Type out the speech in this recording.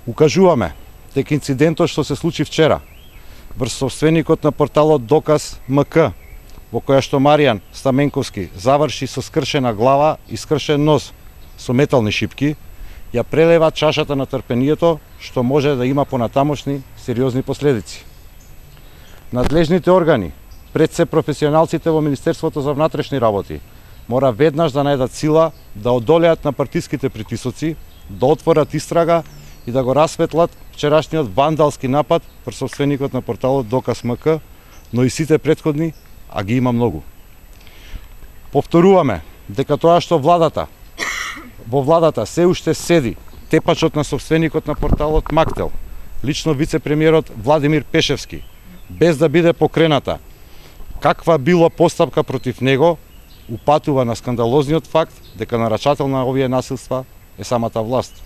Укажуваме дека инцидентот што се случи вчера врз собственикот на порталот Доказ МК, во која што Маријан Стаменковски заврши со скршена глава и скршен нос со метални шипки, ја прелева чашата на трпението што може да има понатамошни сериозни последици. Надлежните органи, пред се професионалците во Министерството за внатрешни работи, мора веднаш да најдат сила да одолеат на партиските притисоци, да отворат истрага и да го расветлат вчерашниот вандалски напад врз собственикот на порталот Доказ МК, но и сите претходни, а ги има многу. Повторуваме дека тоа што во владата се уште седи тепачот на собственикот на порталот Мактел, лично вице-премиерот Владимир Пешевски, без да биде покрената каква било постапка против него, упатува на скандалозниот факт дека нарачател на овие насилства е самата власт.